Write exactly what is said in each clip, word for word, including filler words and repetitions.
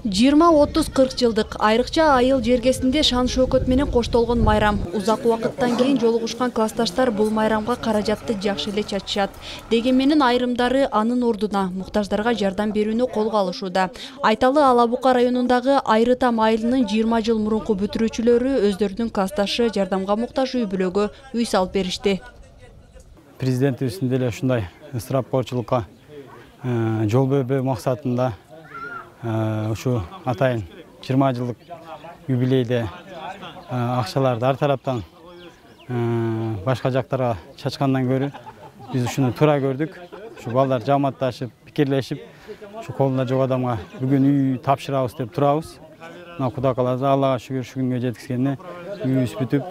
жыйырма отуз кырк жылдык айрыкча айыл жергесинде шан шөкөт менен коштолгон майрам. Узак убакыттан кийин жолугушкан классташтар бул майрамга каражатты жакшы эле чачышат. Деген менен айрымдары анын ордуна муктаждарга жардам берүүнү колго алышууда. Айталы Ала Бука районундагы Айрытам айылынын жыйырма жыл мурунку бүтүрүүчүлөрү өздөрүнүн классташы жардамга муктаж үй бүлөгө үй салып беришти. Президентибиздин деле ушундай ысырапкорчулукка жол бербөө максатында ушу атайын жыйырма жылдык юбилейде акчаларды ар тараптан башка жактарга чачкандан көрө биз ушуну туура көрдүк. Ушу балдар жамаатташып, пикирлешип, ушу колунда жок адамга бүгүн үй тапшырабыз деп турабыз. Мына Кудай кааласа, Аллага шүгүр ушул күнгө жеткизгенине үйүбүз бүтүп,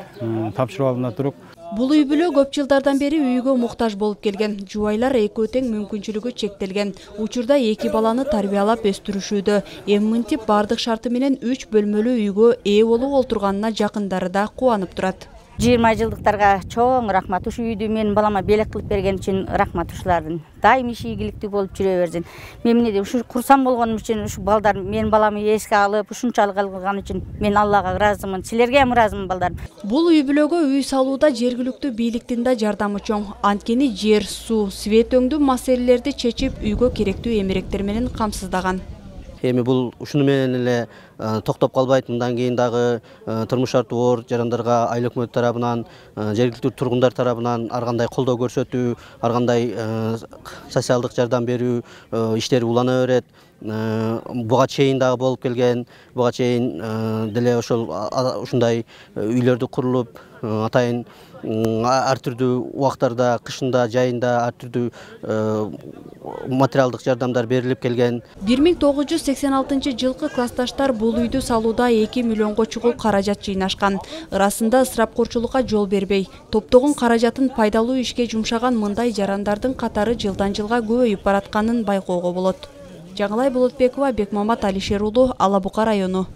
тапшырып алдында туруп. Бул үй бүлө көп жылдардан бери үйгө муктаж болуп келген. Жубайлар экөө тең мүмкүнчүлүгү чектелген. Учурда эки баланы тарбиялап өстүрүшүүдө. Эми мынтип бардык шарты менен үч бөлмөлүү үйгө ээ болуп олтурганына жакындары да кубанып турат. жыйырма жылдыктарга чоң рахмат. Ушу үйдү менин балама белек кылып берген үчүн рахмат ушулардын. Дайым иши ийгиликтүү болуп жүрө берсин. Мен эмне ушу курсам болгонум үчүн ушу балдар менин баламы эске алып, ушунчалык алган үчүн мен Аллага ыраазымын. Силерге ham ыраазымын балдар. Бул үй бүлөгө үй салууда жергиликтүү бийликтин да жардамы чоң. Анткени жер, суу, свет өңдүү маселелерди чечип, үйгө керектүү эмеректер менен камсыздаган. Эми бул ушуну менен эле токтоп калбайт. Мындан кийин дагы турмуш шарты оор жарандарга айыл өкмөт тарабынан, жергиликтүү тургундар тарабынан ар кандай колдоо көрсөтүү, ар кандай социалдык жардам берүү иштери улана берет. Буга чейин дагы болуп келген, буга чейин деле ошол ушундай үйлөрдү курулуп, атайын ар түрдүү убактарда, кышында, жайында ар түрдүү материалдык жардамдар берилип келген. бир миң тогуз жүз сексен алтынчы жылкы классташтар бул үйдү салууда эки миллионго чукул каражат жыйнашкан. Ырасында ысырапкорчулукка жол бербей, топтогон каражатын пайдалуу ишке жумшаган мындай жарандардын катары жылдан жылга көбөйүп баратканын байкоого болот. Жаңылай Болотбекова, Бекмамат Алишер уулу, Ала Бука району.